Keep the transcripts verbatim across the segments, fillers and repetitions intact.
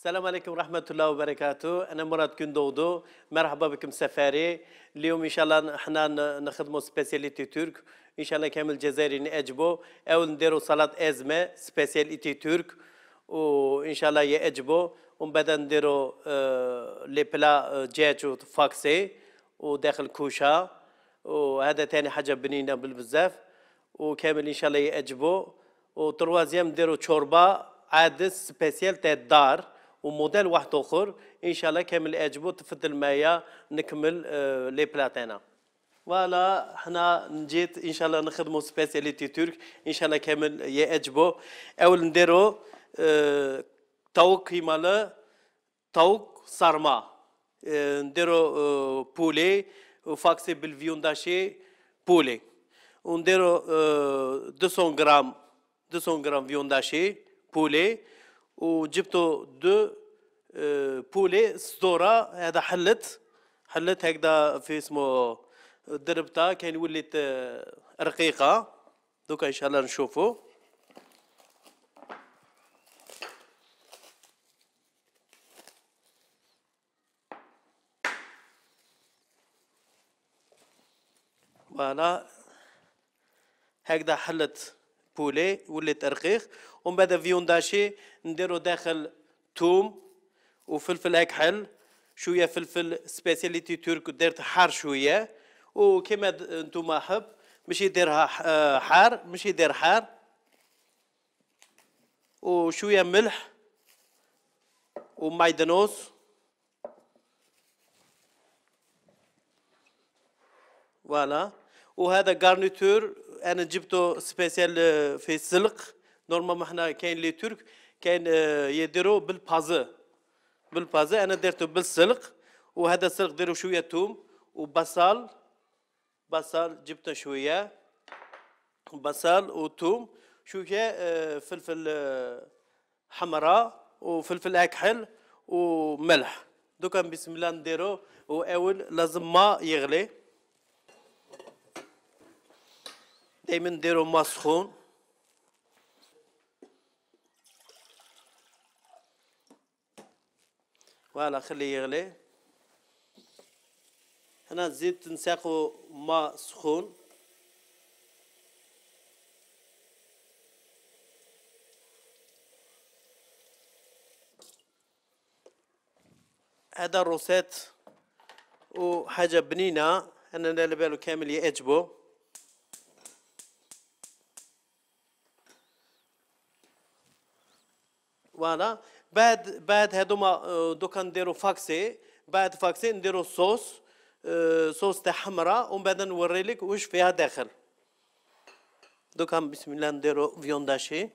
السلام عليكم ورحمة الله وبركاته. أنا مراد كندودو، مرحبا بكم سفاري. اليوم إن شاء الله احنا نخدموا سبيسياليتي ترك، إن شاء الله كامل الجزائري نعجبوا. أول نديروا صلاة أزمة سبيسياليتي ترك، وإن شاء الله يعجبوا. ومن بعد نديروا آه لي بلا دجاج وفاكسي وداخل كوشة، وهذا تاني حاجة بنينة بالبزاف، وكامل إن شاء الله يعجبوا. وتروازيام نديروا شوربة عادس سبيسيال تاع الدار وموديل واحد اخر، ان شاء الله كامل يعجبوا. تفضل معايا نكمل آه لي بلاتينا. فوالا حنا نجيت ان شاء الله نخدموا سبيسياليتي ترك، ان شاء الله كامل يعجبوا. اول نديروا آه طوق كيما طوق صارما، آه نديروا آه بولي وفاكسي بالفيونداشي بولي، ونديروا آه مئتين غرام مئتين غرام فيونداشي بولي، وجبتوا دو بولي صدورة. هذا حلت حلت هكذا في اسمه دربتها كاين وليت رقيقة. دوكا ان شاء الله نشوفوا. فوالا هكذا حلت بولي وليت رقيق. ومن بعد فيونداشي نديرو داخل توم وفلفل اكحل، شويه فلفل سبيسياليتي ترك درت حار شويه، وكما انتم حب ماشي يديرها حار ماشي يدير حار، وشويه ملح ومايدنوس. فوالا وهذا غارنيتور انا جبته سبيسيال في السلق. نورمالمون حنا كاين لي ترك كاين يديروا بالبازو بالبازو، انا درته بالسلق. وهذا السلق ديروا شويه توم وبصل، بصل جبته شويه بصل وتوم، شويه فلفل حمراء وفلفل اكحل وملح. دوكا بسم الله نديرو. واول لازم ما يغلي، دائما نديرو ما سخون. فوالا خليه يغلي. هنا الزيت نساقو ماء سخون. هذا الروسيت وحاجة بنينة، أنا على بالو كامل يعجبو. فوالا بعد بعد هذوما دوكا نديرو فاكسي. بعد فاكسي نديرو صوص آه صوص تاع حمراء، ومن بعد نوريلك واش فيها داخل. دوكا بسم الله نديرو فيونداشي.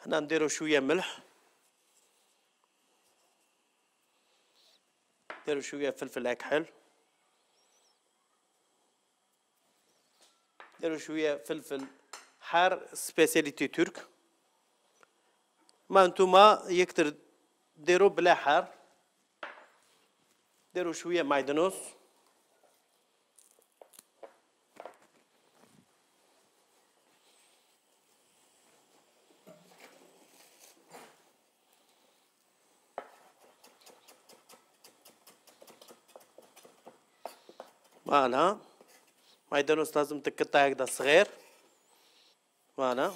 هنا نديرو شويه ملح، نديرو شويه فلفل اكحل، نديرو شويه فلفل حار سبيسياليتي ترك. ما نتوما يكتر ديرو بلا حار. ديرو شويه معدنوس، فوالا معدنوس لازم تقطع هكذا صغير. فوالا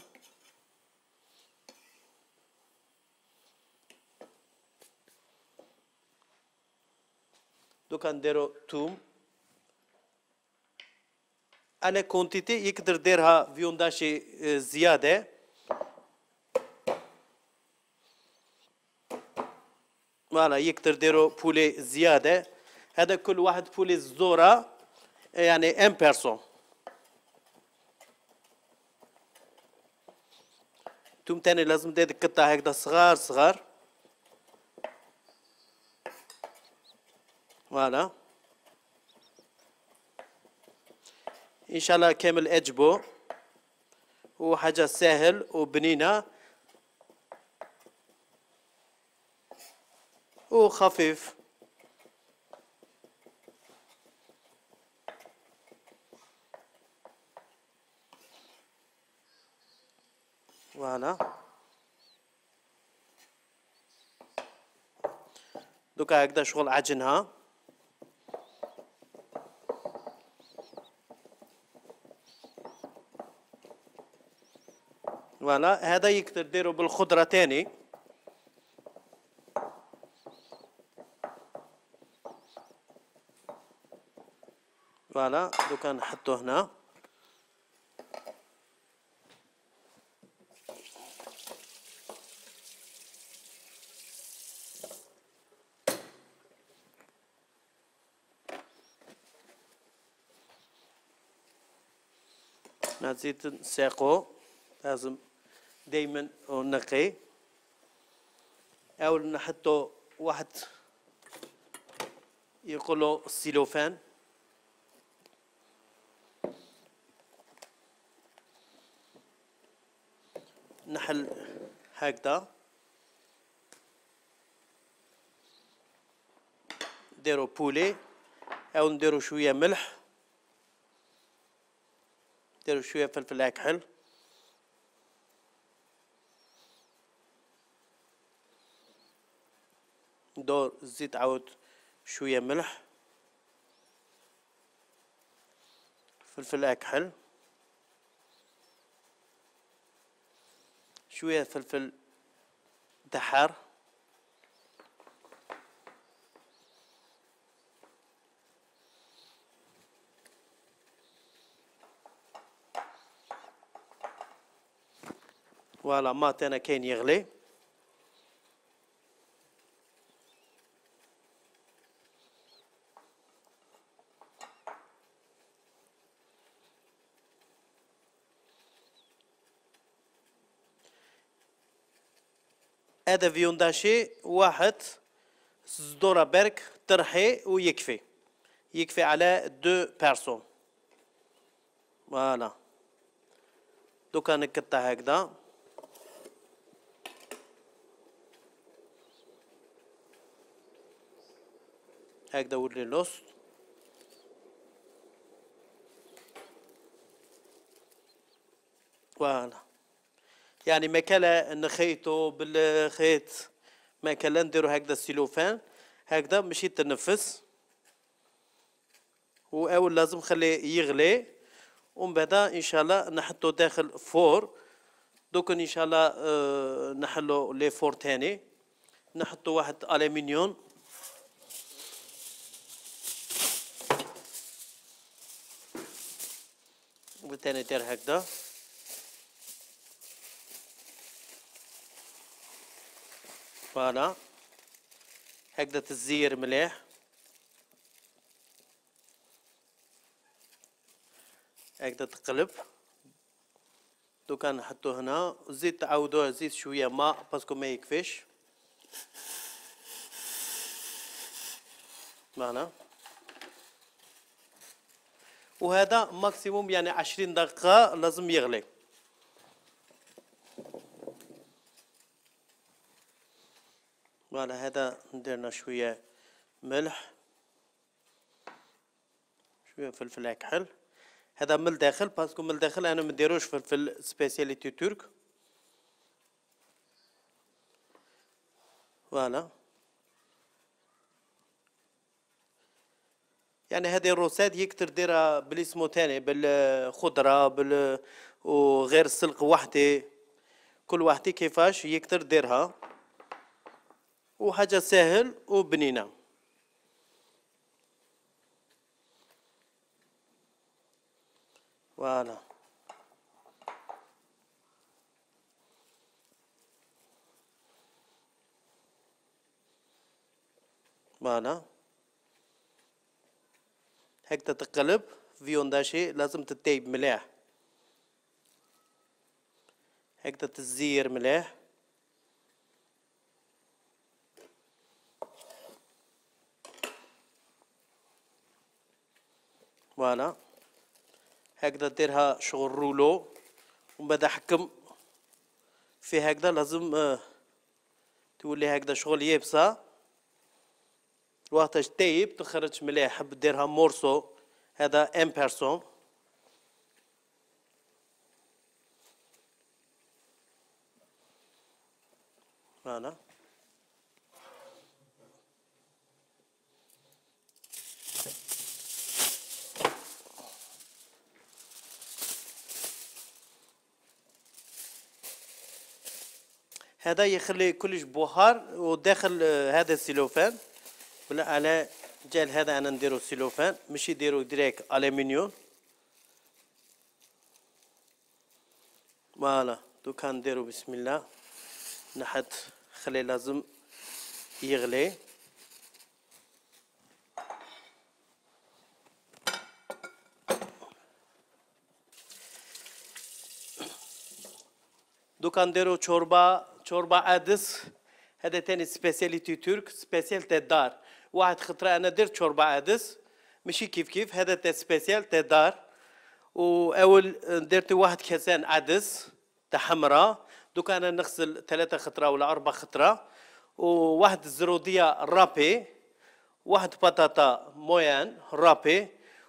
دوكا نديرو توم. انا كونتيتي يقدر ديرها فيونداشي زياده. فوالا يقدر ديرو بولي زياده. هذا كل واحد بولي زدوره يعني ان بيرسون. توم تاني لازم تقطع هكذا صغار صغار. فوالا ان شاء الله كامل اجبو، وحاجه سهل وبنينه. وخفيف. فوالا دوكا هكذا شغل عجنها. فوالا هذا يقدر ديرو بالخضرة تاني. فوالا دوكا نحطو هنا. نزيد نساقو، لازم دايما نقي. او نحطو واحد يقولوا السيلوفان. نحل هكذا، نديرو بولي او نديرو شويه ملح، نديرو شويه فلفل اكحل، ندور الزيت عاود شويه ملح، فلفل اكحل، شويه فلفل دحار، فوالا ما تانا كاين يغلي. هذا فيونداشي واحد صدورة برك ترحي ويكفي، يكفي على دو بيرسون. فوالا دوكا نقطع هكذا. هكذا ولي الوسط. فوالا يعني ماكلا نخيطو بالخيط، ماكلا نديرو هكذا السيلوفان هكذا باش يتنفس. واول لازم خليه يغلي ومن بعد ان شاء الله نحطو داخل فور. دوك ان شاء الله اه نحلو لي فور تاني، نحطو واحد الومنيوم وثاني ندير هكذا. فوالا هكذا تزير مليح. هكذا تقلب. دوكا نحطو هنا الزيت، تعاودوه زيت شويه ماء باسكو ما يكفيش. فوالا وهذا ماكسيموم يعني عشرين دقيقه لازم يغلي. فوالا هذا نديرنا شويه ملح، شويه فلفل اكحل. هذا من الداخل باسكو من الداخل انا ما نديروش فلفل سبيسياليتي ترك. فوالا يعني هذه الروسات يكتر ديرها بالاسمو تاني بالخضره بال وغير السلق وحده، كل واحده كيفاش يكتر ديرها، وحاجه سهل وبنينه. فوالا فوالا هكذا تقلب. فيونداشي لازم تطيب مليح، هكذا تزير مليح. فوالا هكذا ديرها شغل رولو ومن بعد حكم في هكذا. لازم تولي هكذا شغل يابسه وقتاش تايب تخرج مليح. حب ديرها مورسو، هذا ان بيرسون. فوالا هذا يخلي كلش بخار، وداخل هذا السيلوفان ولا على جال هذا انا نديرو سيلوفان، ماشي نديرو ديريكت الومنيوم. فوالا دوكا نديرو بسم الله. نحط خلي لازم يغلي. دوكا نديرو شوربه شوربه عدس. هذا تاني سبيسياليتي ترك، سبيسيال تاع الدار. واحد خطره انا درت شوربه عدس ماشي كيف كيف، هذا تاع سبيسيال تاع الدار. واول درت واحد كاسان عدس تاع حمراء. دوكا انا نغسل ثلاثه خطره ولا اربع خطره، وواحد الزروديه رابي، واحد بطاطا مويان رابي،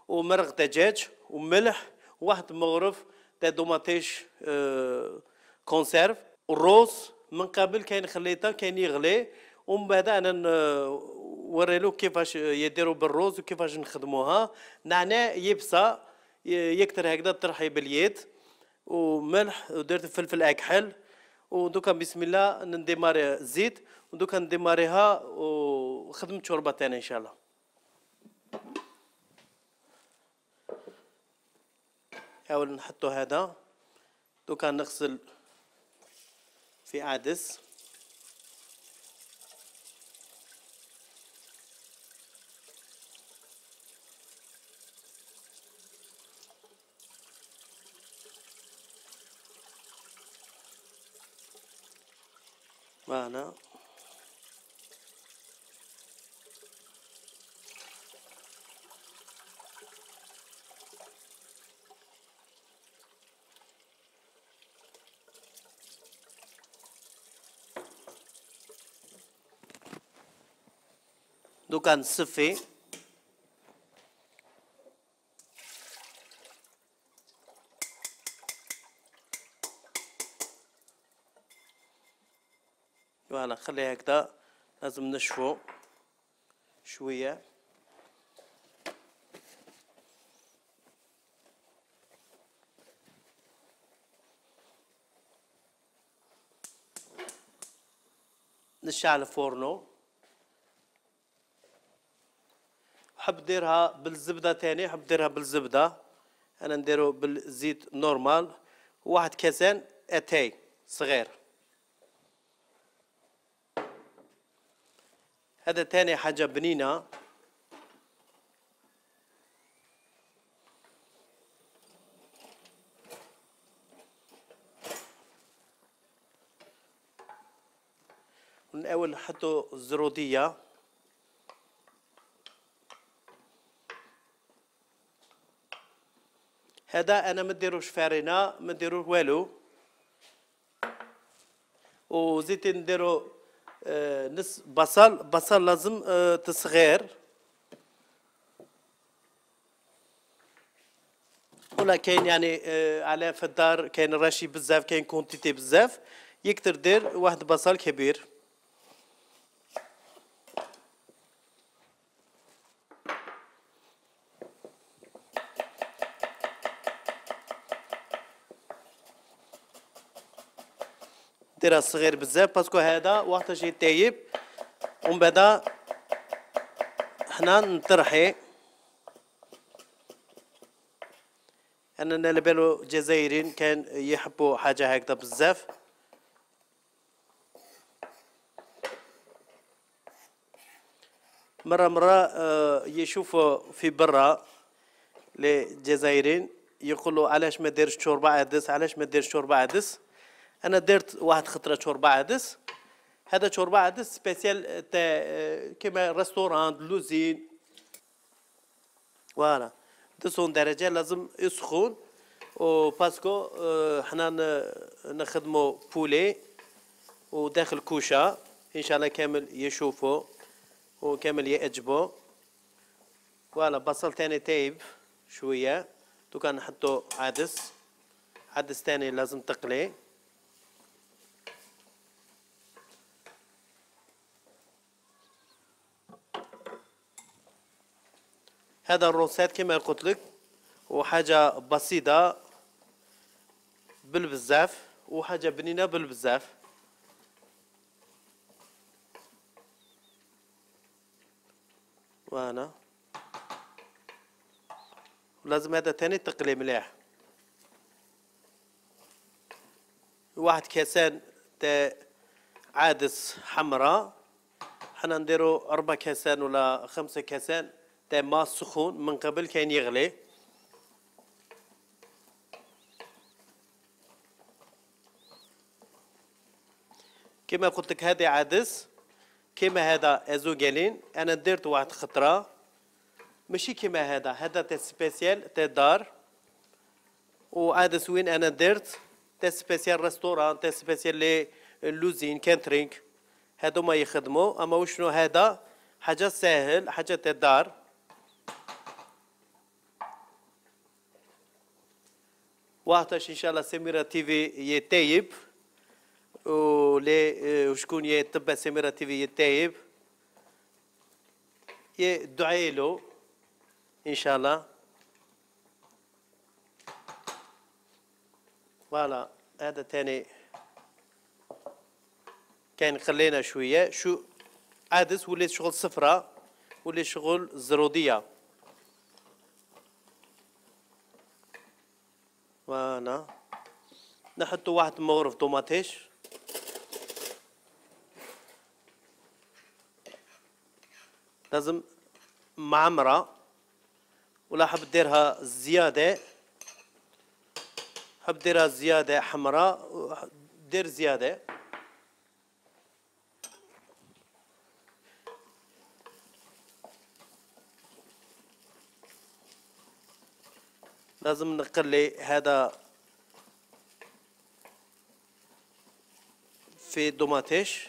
ومرق دجاج وملح، وواحد مغرف تاع دوماتيش اه كونسيرف. والروز من قبل كاين خليته كاين يغلي، ومن بعد انا نوريلو كيفاش يديروا بالروز وكيفاش نخدموها. نعناع يبسه يكتر هكذا طرحي باليد، وملح، ودرت فلفل اكحل. ودوكا بسم الله نديماري الزيت، ودوكا نديماريها وخدمت شوربه ثانيه ان شاء الله. اول نحطو هذا. دوكا نغسل في عدس. معنا دوكا نصفي. فوالا خليها هكذا، لازم نشفو شويه. نشعل الفورنو. حب ديرها بالزبده تاني، حب ديرها بالزبده، انا نديرو بالزيت نورمال. واحد كاسان اتاي صغير. هذا تاني حاجه بنينه. من اول نحطو الزروديه. هذا انا ما نديروش فارينه، ما نديروش والو. وزيت نديرو آه نص بصل. بصل لازم آه تصغير، ولا كاين يعني آه على في الدار كاين راشي بزاف، كاين كونتيتي بزاف، يكتر دير واحد بصل كبير. ديرها صغير بزاف باسكو هذا وقتاش يطيب. ومن بعد حنا نطرحي. انا على بالو الجزائريين كان يحبوا حاجه هكذا بزاف. مره مره يشوفوا في برا للجزائريين يقولوا علاش ما ديرش شوربه عدس، علاش ما ديرش شوربه عدس. انا درت واحد خطره شوربه عدس. هذا شوربه عدس سبيسيال تاع كيما ريستوران لوزين. فوالا تسعين درجه لازم يسخن. وباسكو حنا نخدمو بولي وداخل كوشه ان شاء الله كامل يشوفوا وكامل يعجبه. فوالا بصل تاني تايب شوية، دوكا نحطو عدس، عدس تاني لازم تقلي. هذا الروسات كما قلت لك، وحاجة بسيطة بالبزاف وحاجة بنينة بالبزاف. وانا لازم هذا تاني تقلي مليح. واحد كاسان تاع عدس حمراء، حنا نديرو أربع كاسان ولا خمسة كاسان تاع ماء سخون من قبل كاين يغلي. كما قلت لك هذه عدس، كما هذا ازوغالين انا درت واحد خطره ماشي كما هذا، هذا تاع سبيسيال تاع دار، وعدس وين انا درت تاع سبيسيال ريستوران، تاع سبيسيال لي لوزين كانترينغ، هادو ما يخدموا. اما وشنو هذا حاجه ساهل، حاجه تاع دار. وقتاش ان شاء الله سميرة تيفي يتايب، ولي وشكون يتبع سميرة تيفي يتايب يدعي له ان شاء الله. فوالا هذا تاني كان خلينا شويه شو عدس ولي شغل صفراء ولي شغل زروديه. وانا نحطو واحد مغرف طوماطيش، لازم معمرة، ولا حب ديرها زيادة، حب ديرها زيادة حمراء دير زيادة. لازم نقلي هذا في دوماتيش.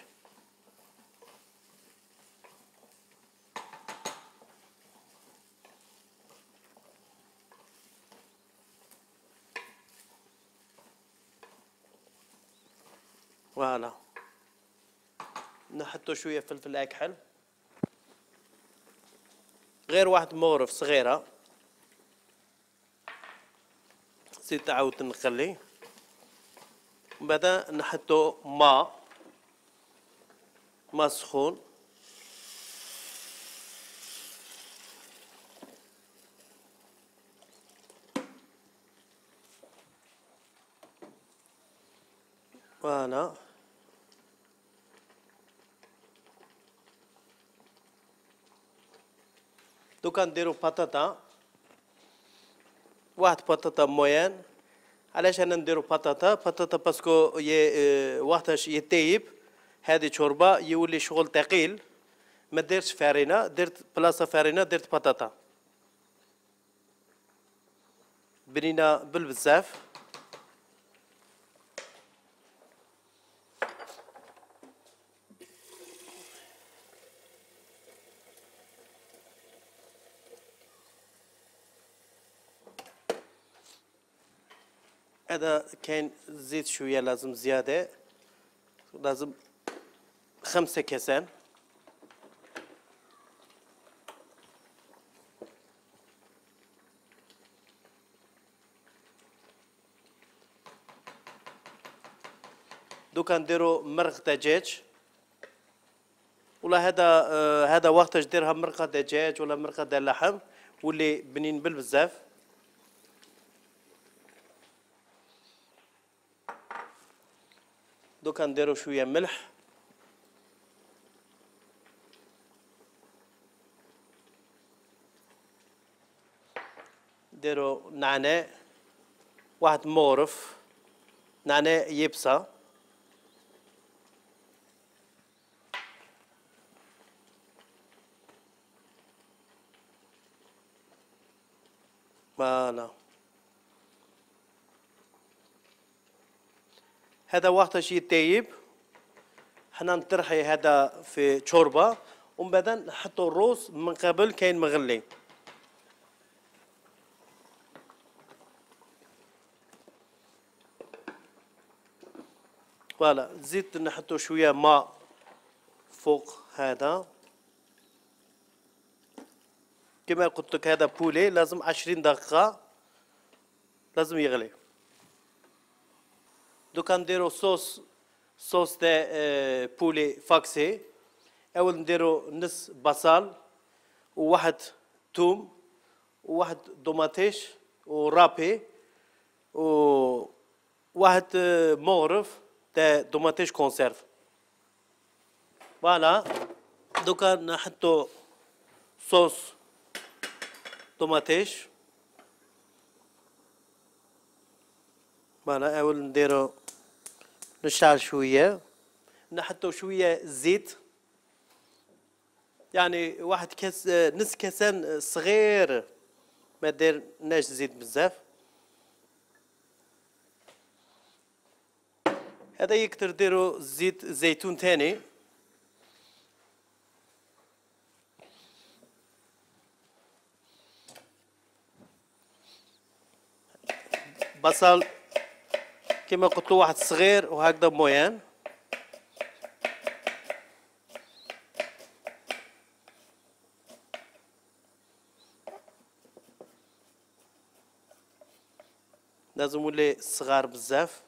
فوالا نحطو شوية فلفل أكحل، غير واحد مغرف صغيرة، زيد تعاود نخلي. من بعد نحطو ماء ماء سخون، فوالا دوكا نديرو بطاطا، واحد بطاطا مويان. علاش انا نديرو بطاطا؟ بطاطا باسكو ي... وقتاش يطيب هذه شوربه يولي شغل ثقيل. ما درتش فارينه، درت بلاصه فارينه درت بطاطا بنينه بالبزاف. هذا كاين زيت شويه لازم زياده، لازم خمسة كاسان. دوكا نديرو مرق دجاج، ولا هذا آه هذا وقتاش ديرها مرقه دجاج ولا مرقه ديال لحم واللي بنين بالبزاف. دوكا نديرو شويه ملح، نديرو نعناع، واحد مغرف نعناع يبسه، فوالا. هذا وقتاش يتايب حنا نطرحي هذا في شوربه، ومن بعد نحطوا الروز من قبل كاين مغلي. فوالا زيت نحطوا شويه ماء فوق هذا. كما قلت لك هذا بولي لازم عشرين دقيقه لازم يغلي. دوكا نديرو صوص صوص تاع بولي فاكسي. اول نديرو نص بصل وواحد توم وواحد دوماتيش ورابي وواحد مغرف تاع دوماتيش كونسيرف. فوالا دوكا نحطو صوص دوماتيش. فوالا اول نديرو نشعل شويه نحطو شويه زيت يعني واحد كاس نص كاسان صغير ما ديرناش زيت بزاف. هذا يكتر ديرو زيت زيتون تاني. بصل كما قلت واحد صغير وهكذا مويان. لازم يولي صغار بزاف.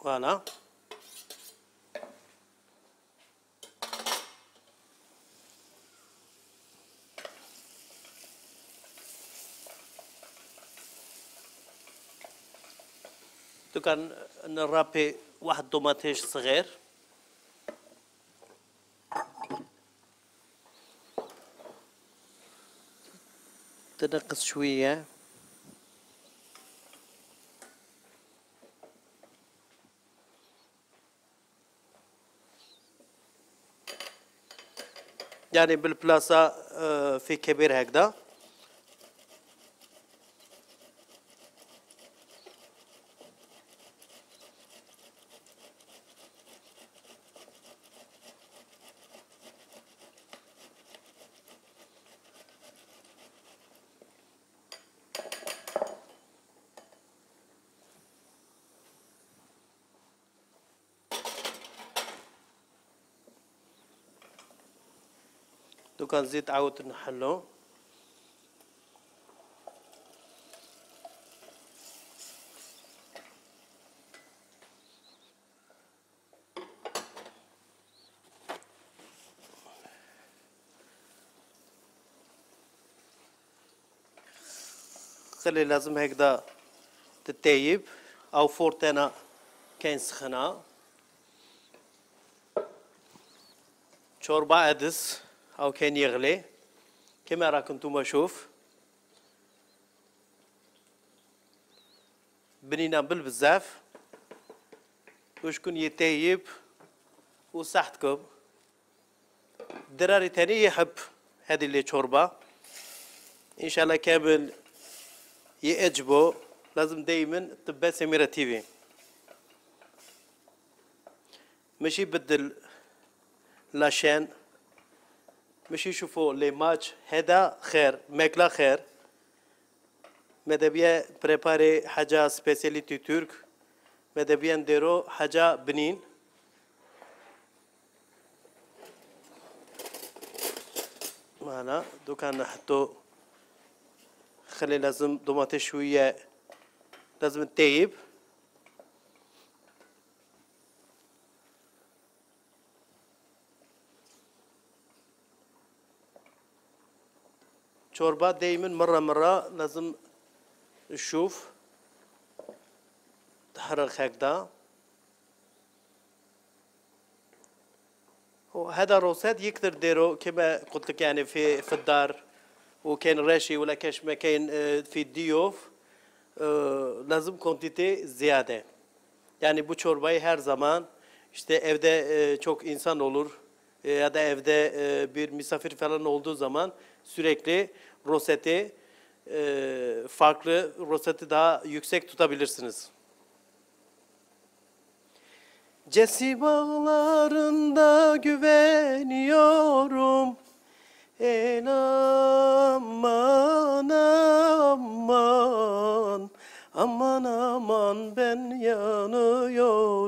فوالا دوكا نرابي واحد دوماتيش صغير. تنقص شويه يعني بالبلاصه في كبير هكذا. دوكا نزيد عاود نحلو. خلي لازم هكذا تتايب او فورتنا كاين سخنه. شوربه عدس او كاين يغلي كما راكم نتوما شوف بنينه بالبزاف وشكون يتايب وصحتكم. الدراري تاني يحب هذه اللي شوربه ان شاء الله كامل يعجبوا. لازم دايما تبع سميرة تيفي ماشي بدل لاشين ماشي يشوفوا لي ماتش. هذا خير ماكله خير. ماذا بيا بريباري حاجه سبيسياليتي ترك. ماذا بيا نديرو حاجه بنين. فوالا دوكا نحطو خلي لازم دوماتي شويه لازم تطيب. شوربه دائما مره مره لازم نشوف تحرق هكذا. وهذا روسات يقدر ديرو كما قلت لك يعني في في الدار، وكاين راشي ولا كاش ما كاين في الضيوف، لازم كونتيتي زياده. Yani bu çorbayı her zaman işte evde e, çok insan olur e, ya da evde e, bir misafir falan olduğu zaman sürekli roseti e, farklı roseti daha yüksek tutabilirsiniz. Cesi bağlarında güveniyorum. En aman aman, aman aman ben yanıyorum.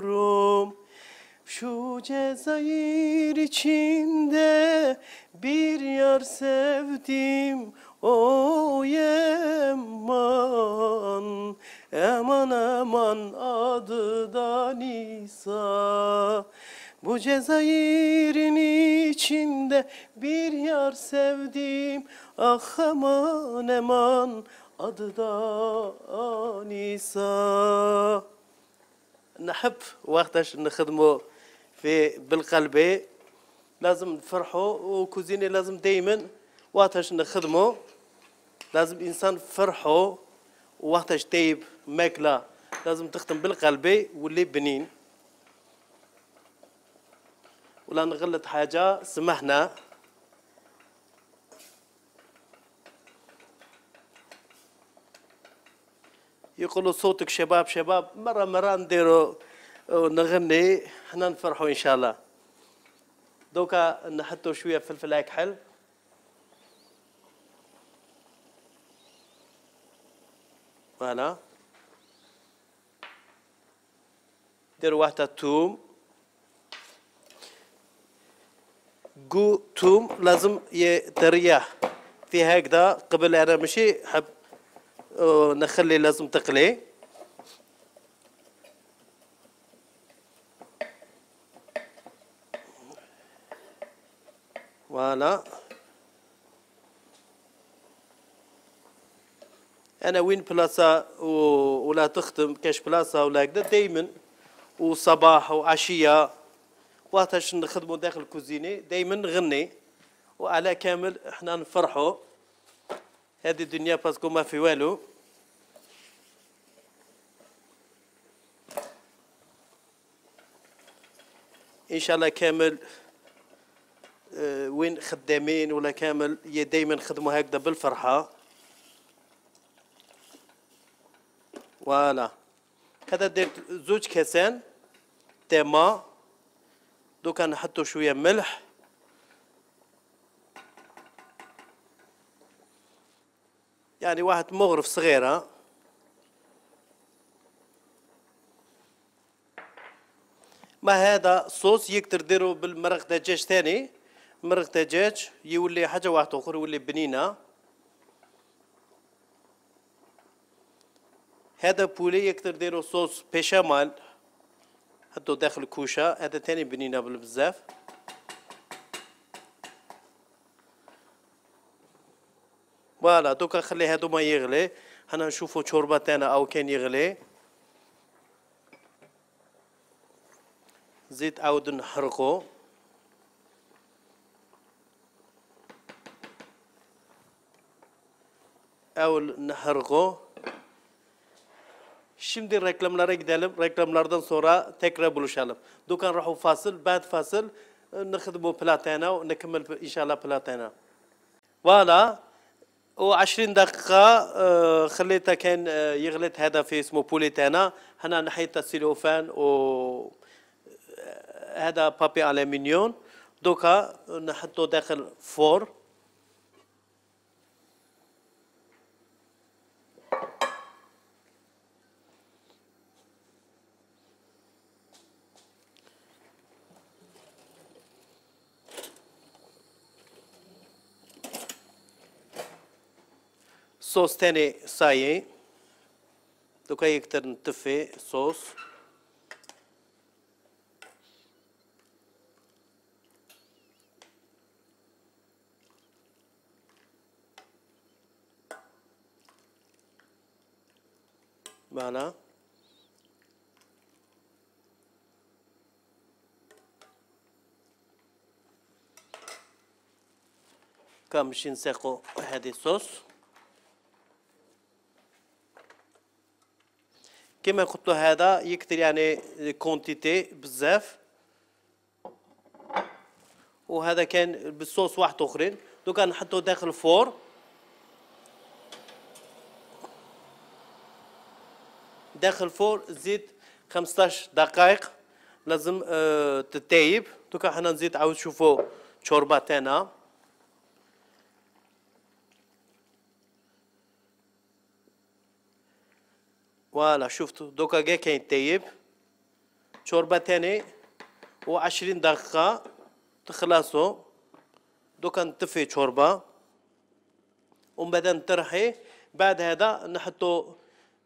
Şu Cezayir içinde bir yar sevdim. Oy eman, eman eman adı da Nisa. Bu Cezayir'in içinde bir yar sevdim. Ah aman eman adı da Nisa. نحب وقتاش نخدمو في بالقلبي لازم نفرحوا، وكوزيني لازم دايما وقتاش نخدمو لازم انسان فرحوا، وقتاش تايب ماكله لازم تخدم بالقلبي واللي بنين. ولا نغلط حاجه سمحنا. يقولوا صوتك شباب شباب، مرة مرة نديروا نغني حنا نفرحوا إن شاء الله. دوكا نحطوا شوية فلفل أكحل، فوالا. نديروا واحدة توم، جو توم لازم يتريح في هكذا قبل. أنا ماشي حب نخلي لازم تقلي. فوالا. انا وين بلاصه ولا تخدم كاش بلاصه ولا هكذا دايما وصباح وعشيه وقتاش نخدموا داخل الكوزيني دايما نغني، وعلى كامل احنا نفرحوا. هذه الدنيا باسكو ما في والو. ان شاء الله كامل اه وين خدامين ولا كامل دايما نخدموا هكذا بالفرحه. فوالا. هذا درت زوج كاسان تما، دوكا نحطوا شويه ملح، يعني واحد مغرف صغيرة. ما هذا صوص يقدر ديرو بالمرق دجاج ثاني، مرق دجاج يولي حاجة واحدة أخرى يولي بنينة. هذا بولي يقدر ديرو صوص بيشامال حطو داخل الكوشة، هذا ثاني بنينة بزاف. فوالا. دوكا خلي هادو ما يغلي، حنا نشوفو شوربة تاعنا أو كان يغلي. زيت عاود نحرقو. أول نحرقو. Şimdi reklamlara gidelim. Reklamlardan sonra tekrar buluşalım. دوكا نروحو فاصل، بعد فاصل نخدمو بلاتانا ونكمل إن شاء الله بلاتانا. فوالا. وعشرين دقيقة خليتها كان يغلط هذا في اسمه بوليتانا. هنا نحيت السيلوفان و هذا بابي ألمنيون. دوكا نحطه داخل فور. صوص تاني صايي، دوكا يقدر نطفي صوص. فوالا. دوكا باش نساقو هذه الصوص. كما قلت له هذا يكثر يعني كونتيتي بزاف، وهذا كان بالصوص واحد اخرين. دوكا نحطو داخل الفور داخل الفور زيت خمسطاش دقائق لازم آه تتايب. دوكا حنا نزيد عاود شوفوا شوربه تاعنا. فوالا شفتوا دوكا كاع كاين تايب. شوربه تاني وعشرين دقيقه تخلصوا. دوكا نطفي شوربه ومن بعد نطرحي. بعد هذا نحطو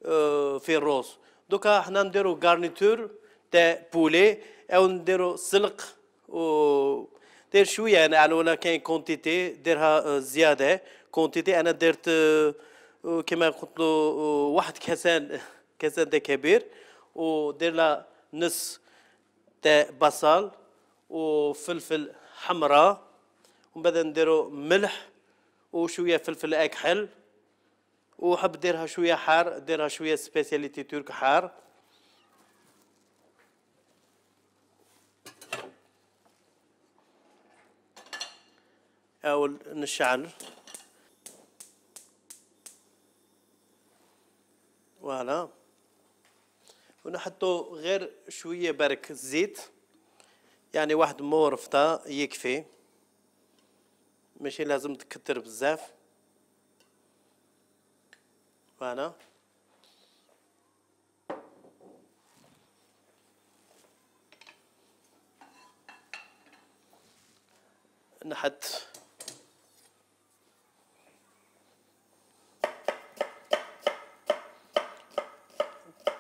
آه في الروز. دوكا حنا نديرو غارنيتور تاع بولي او نديرو سلق و دير شويه انا على ولا كاين كونتيتي ديرها زياده كونتيتي. انا درت كما قلت له واحد كاسان كاسان تاع كبير ودير لها نص تاع بصل وفلفل حمراء ومن بعد نديرو ملح وشويه فلفل اكحل وحب ديرها شويه حار ديرها شويه سبيسياليتي ترك حار. أول نشعل فوالا ونحطو غير شوية برك زيت يعني واحد مورفطة يكفي ماشي لازم تكتر بزاف. فوالا نحط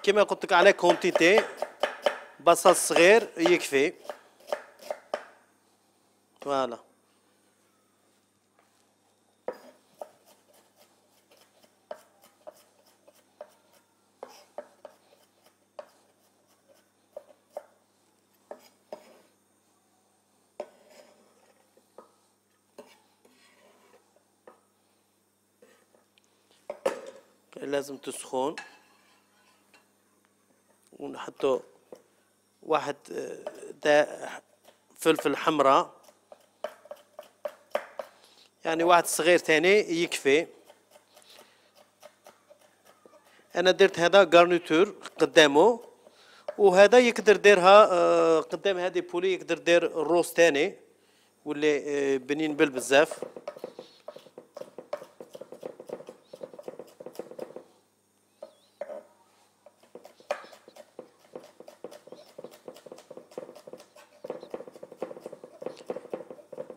كما قلت لك على كونتيتي بصل صغير يكفي. فوالا لازم تسخن ونحطو واحد تاع فلفل حمراء يعني واحد صغير تاني يكفي. انا درت هذا غارنيتور قدامه وهذا يقدر ديرها قدام هذه بولي يقدر دير الروز تاني واللي بنين بالبزاف.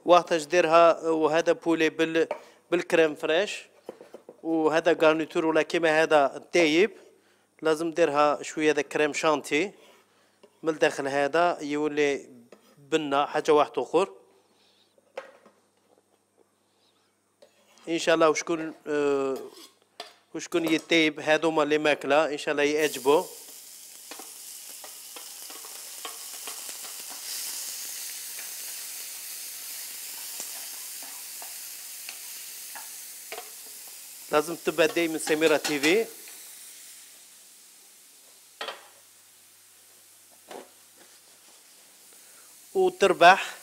وقتاش ديرها وهذا بولي بال بالكريم فريش وهذا غارنيتور ولا كيما هذا تايب لازم ديرها شويه هذا كريم شانتي من الداخل هذا يولي بنه حاجه واحد اخر ان شاء الله. وشكون أه وشكون يتايب هذوما اللي ماكله ان شاء الله يعجبوا. لازم تتبع دايما سميرة تيفي. وتربح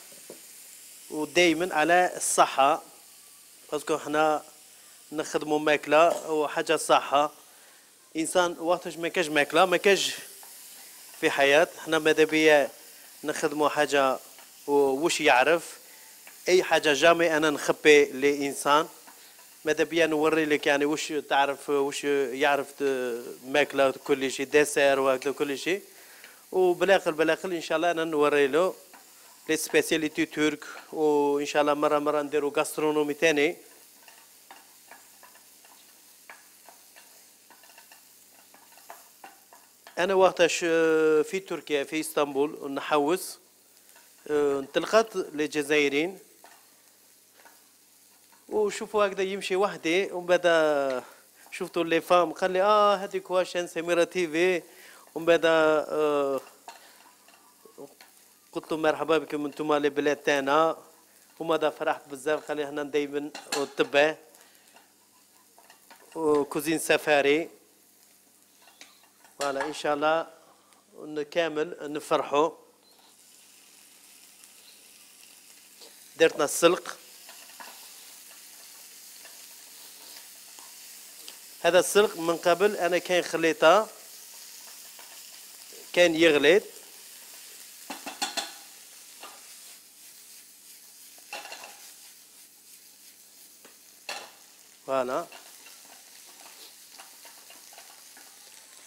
ودايما على الصحة باسكو حنا نخدمو ماكلة وحاجة صحة. انسان وقتاش ما كاش ماكلة ما كاش في حياة. حنا ماذا بيا نخدمو حاجة وش يعرف اي حاجة جامي انا نخبي لانسان. ماذا بيا نوري لك يعني وش تعرف وش يعرف ماكله كل شيء ديسير وهكذا كل شيء. وبالاخر بالاخر ان شاء الله انا نوري له لي سبيسياليتي ترك وان شاء الله مره مره نديرو غاسترونومي ثاني. انا وقتاش في تركيا في اسطنبول نحوس انطلقت للجزائريين وشوفوا هكذا يمشي وحدي ومن بعد شفتوا لي فام قال لي اه هذيك واشان سميرة تيفي ومن بعد آه قلت له مرحبا بكم انتم لبلاد تاعنا وماذا فرحت بزاف. خلي هنا دايما تبع وكوزين سفاري. فوالا ان شاء الله كامل نفرحوا. درتنا السلق. هذا السلق من قبل انا كان خليته كان يغليت. فوالا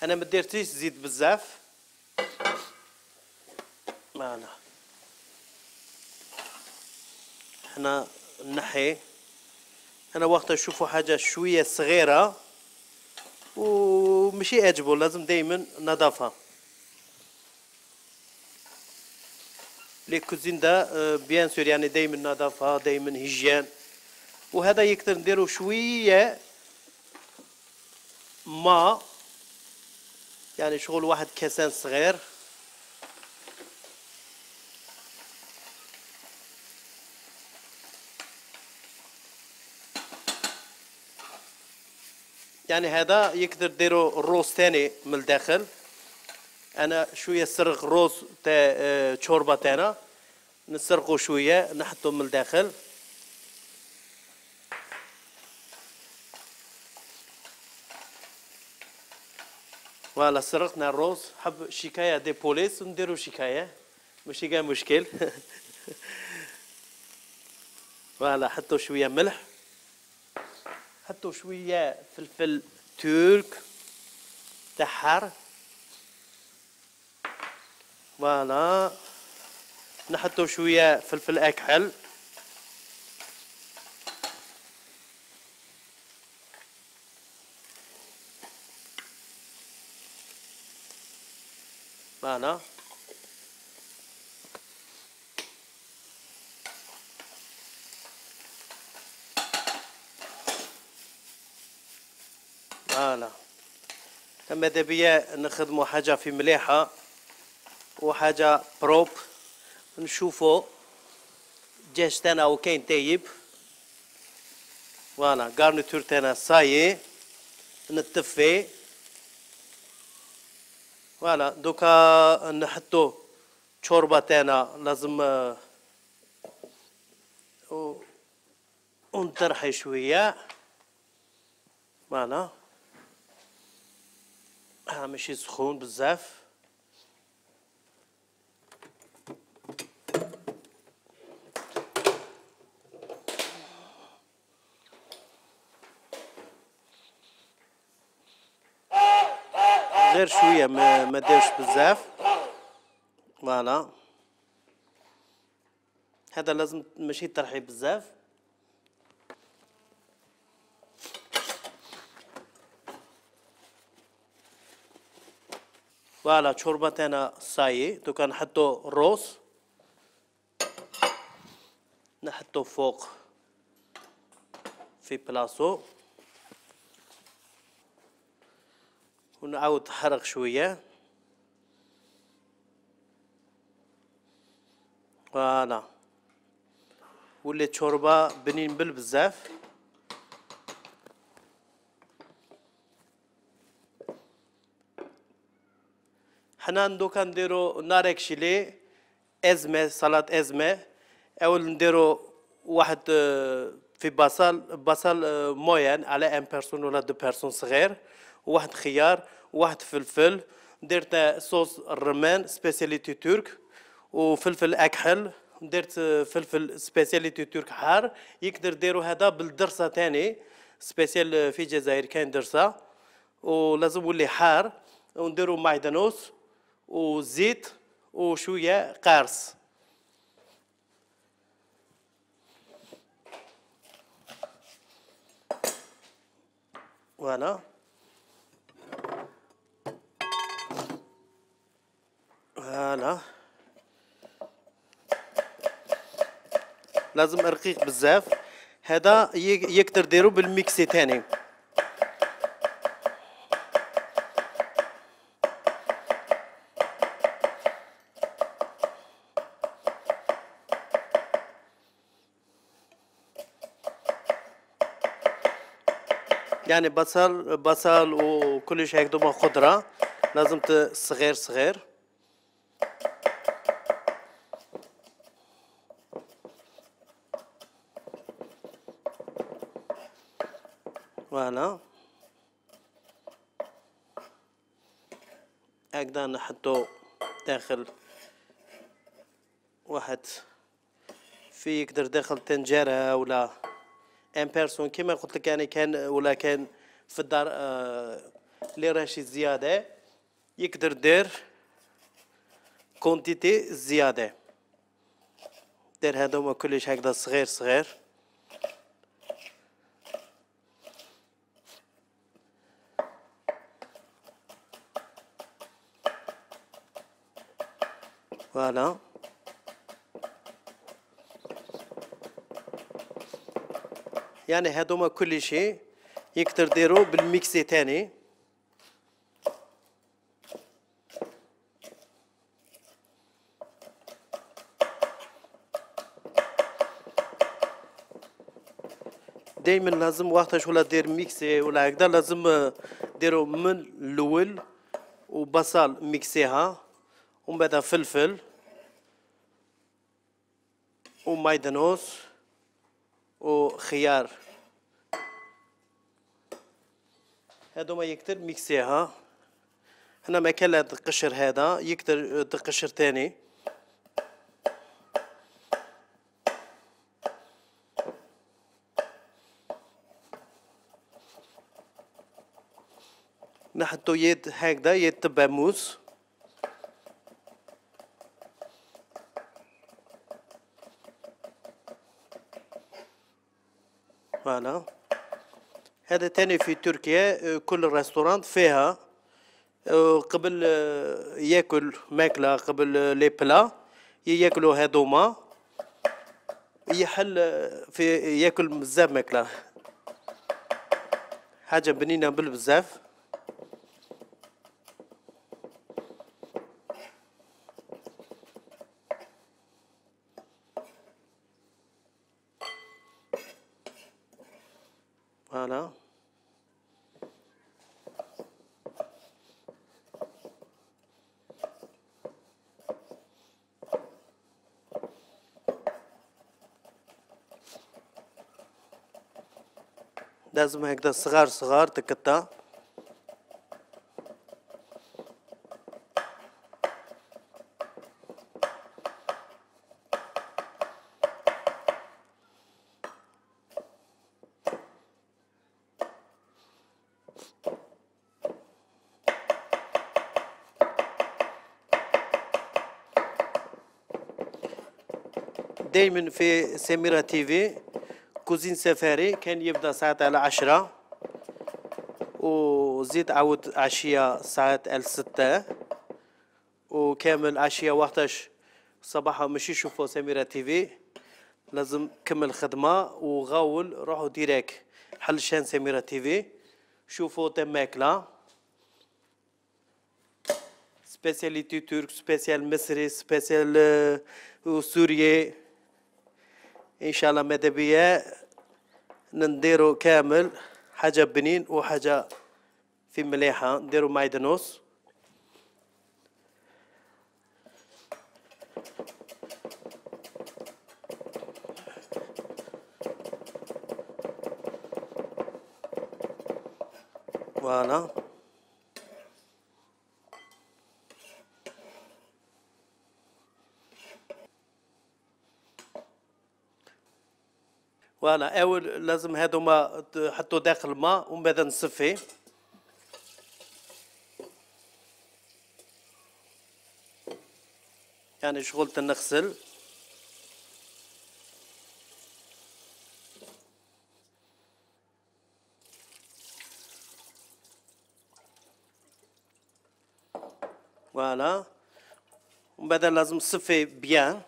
انا ما درتيش زيت بزاف. فوالا احنا نحي. انا وقت نشوفوا حاجه شويه صغيره ومشي يعجبو لازم دايما نظافه. لي كوزين دا بيان سور يعني دايما نظافه دايما هيجيان. وهذا يقدر نديرو شويه ما يعني شغل واحد كاسان صغير. يعني هذا يقدر ديرو الروز تاني من الداخل. انا شويه سرق روز تاع شوربه تاعنا نسرقو شويه نحطو من الداخل. فوالا سرقنا الروز. حب شكايه دي بوليس ونديرو شكايه ماشي كاع مشكل. فوالا حطو شويه ملح. حطوا شويه فلفل ترك تاع حار. فوالا نحطوا شويه فلفل اكحل. فوالا فوالا ماذا بيا نخدموا حاجه في مليحه وحاجه بروب. نشوفوا الدجاج تاعنا وكاين طيب. فوالا غارنيتور تاعنا صايي نطفي. فوالا دوكا نحطو شوربه تاعنا لازم ونطرحي شويه. فوالا ها ماشي سخون بزاف. غير شويه ما ما داوش بزاف. فوالا هذا لازم ماشي طرحي بزاف. فوالا شوربه تاعنا صايي. دوكا نحطو الروز نحطو فوق في بلاصو ونعاود نحرق شويه. فوالا ولات شوربه بنين بالبزاف. حنا دوكا نديرو ناريك شيلي ازمه سلطه ازمه. اول نديرو واحد في بصل بصل موين على ان بيرسون ولا دو بيرسون صغير. وواحد خيار وواحد فلفل. درت صوص الرمان سبيسياليتي ترك وفلفل اكحل. درت فلفل سبيسياليتي ترك حار. يقدر ديرو هذا بالدرسه تاني سبيسيال في الجزائر كاين درسه ولازم يولي حار. ونديرو معدنوس وزيت وشويه قارص. فوالا فوالا لازم رقيق بزاف. هذا يقدر ديرو بالميكسي تاني. يعني بصل بصل وكلش هيك دوما خضرة لازم صغير صغير. فوالا هكذا نحطو داخل واحد في يقدر داخل طنجرة ولا ان بيرسون كيما قلت لك يعني كان ولا كان في الدار آه اللي راشي زيادة يقدر دير كونتيتي زيادة. دير هذوما كلش هكذا صغير صغير. فوالا يعني هذوما كل شيء يقدر ديرو بالميكسي تاني. دايما لازم وقتاش ولا دير ميكسي ولا هكذا لازم ديرو من الاول وبصل ميكسيها ومن بعد فلفل ومايدانوس وخيار هادو ما يقدر ميكسيها. هنا ما كان القشر هذا يقدر تقشر تاني. نحطو يد هكذا يد تبع موس. فوالا هذا تاني في تركيا كل ريستوران فيها قبل ياكل ماكلة قبل لي بلا ياكلوا هذوما يحل في ياكل بزاف ماكلة حاجة بنينة بالبزاف. فوالا لازم هكذا صغار صغار تقطع. دايما في سميرة تيفي كوزين سفاري كان يبدا ساعات على عشرة وزيد عاود عشية ساعات على ستة وكامل عشية وقتاش صباحا مش يشوفوا سميرة تيفي لازم كمل خدمة وغاول روحوا ديريك حل شان سميرة تيفي شوفوا تم ماكلة سبيسياليتي ترك سبيسيال مصري سبيسيال سوري ان شاء الله ماذا بيا نديرو كامل حاجة بنين وحاجة في مليحة. نديرو مايدانوس فوالا فوالا اول لازم هذوما تحطوا داخل الماء ومن بعد نصفي. يعني شغلت نغسل فوالا ومن بعد لازم نصفي بيان.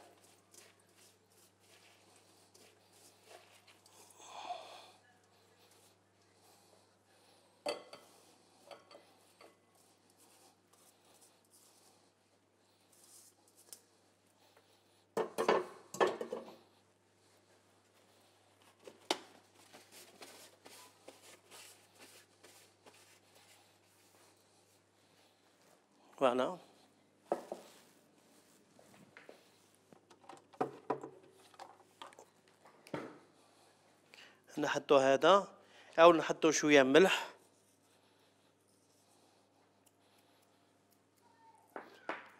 فوالا. نحطو هذا أو نحطو شوية ملح،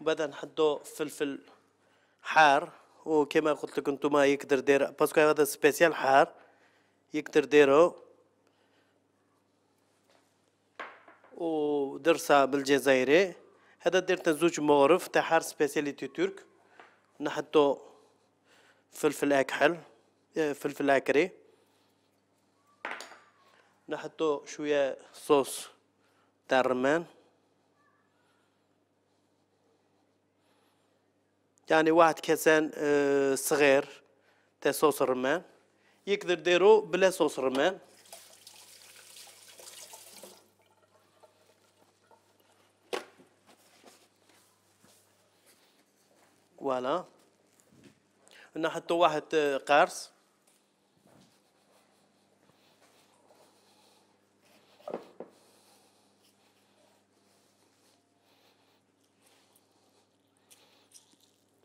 وبعدها نحطو فلفل حار، وكما قلت لكم نتوما يقدر دير باسكو هذا سبيسيال حار يقدر ديرو، ودرسة بالجزائري. هذا درت زوج مغرف تاع حار سبيسياليتي ترك. نحطو فلفل أكحل، فلفل أكري، نحطو شوية صوص تاع الرمان، يعني واحد كاسان صغير تاع صوص الرمان. يقدر ديرو بلا صوص الرمان. فوالا. نحطو واحد قارص،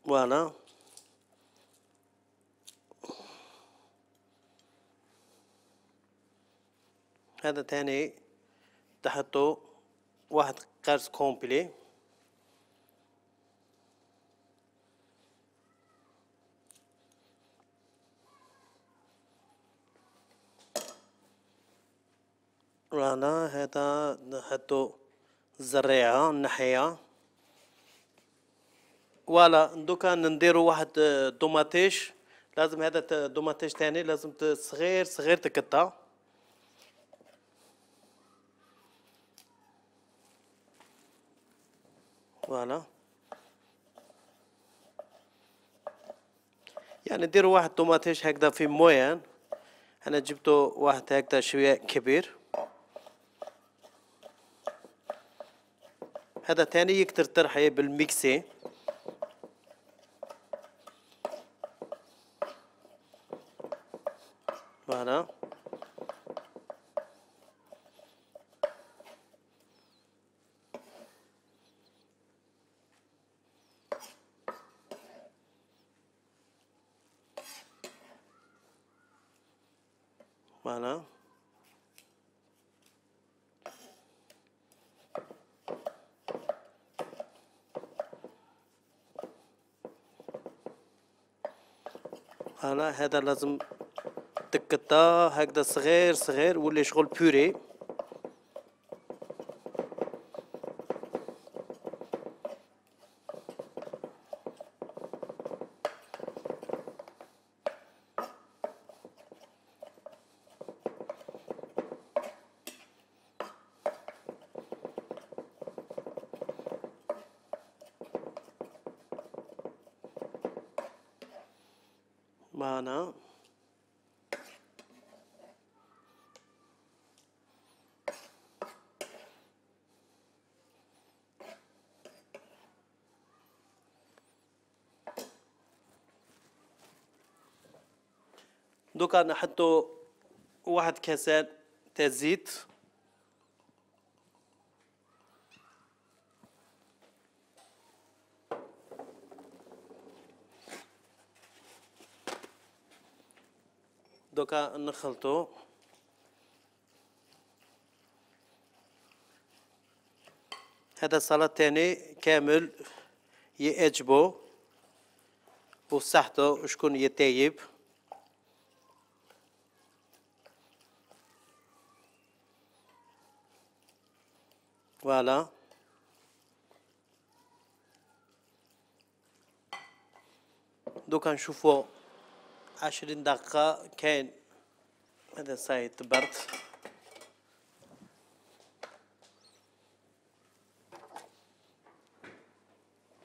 فوالا. هذا تاني تحطو واحد قارص كومبلي. فوالا. هذا نحطو الزريعة نحيها. فوالا. دوكا نديرو واحد طوماطيش، لازم هذا طوماطيش تاني لازم صغير صغير تقطع. فوالا. يعني نديرو واحد طوماطيش هكذا في موين. انا جبتو واحد هكذا شوية كبير. هذا تاني يقدر ترحيه بالميكسي. فوالا. فوالا. فوالا. هذا لازم تقطع هكذا صغير صغير ولا شغل بوري. معنا دوكا نحطو واحد كاسات تاع زيت. دوكا نخلطو. هذا السلطة تاني كامل يعجبو وصحته شكون يطيب. فوالا. دوكا نشوفو عشرين دقيقة كاين. هذا صايد برد.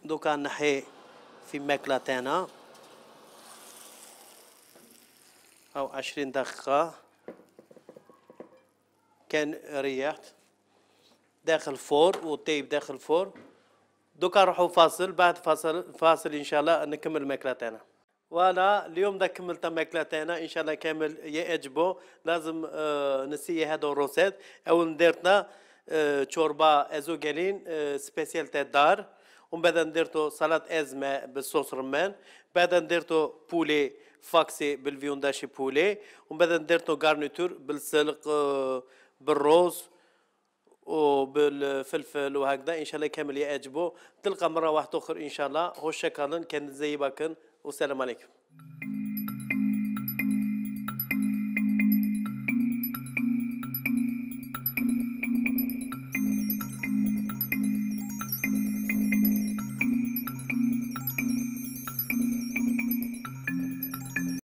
دوكا نحي في ماكلة تاعنا أو عشرين دقيقة كان ريحت داخل الفور وطيب داخل الفور. دوكا نروحو فاصل، بعد فاصل فاصل إن شاء الله نكمل الماكلة تاعنا. وانا اليوم دا كملت الماكلة تاعنا ان شاء الله كامل يعجبو. لازم آه نسي هذا الروسيت. اول درتنا شوربه ازوغالين سبيسيال تاع الدار، ومن بعد نديرتو سلطه ازمه بالصوص رمان، بعد نديرتو بولي فاكسي بالفيونداشي بولي، ومن بعد نديرتو غارنيتور بالسلق بالروز وبالفلفل وهكذا. ان شاء الله كامل يعجبو. تلقى مره واحده اخرى ان شاء الله. هو شكرا كان زي باكن والسلام عليكم.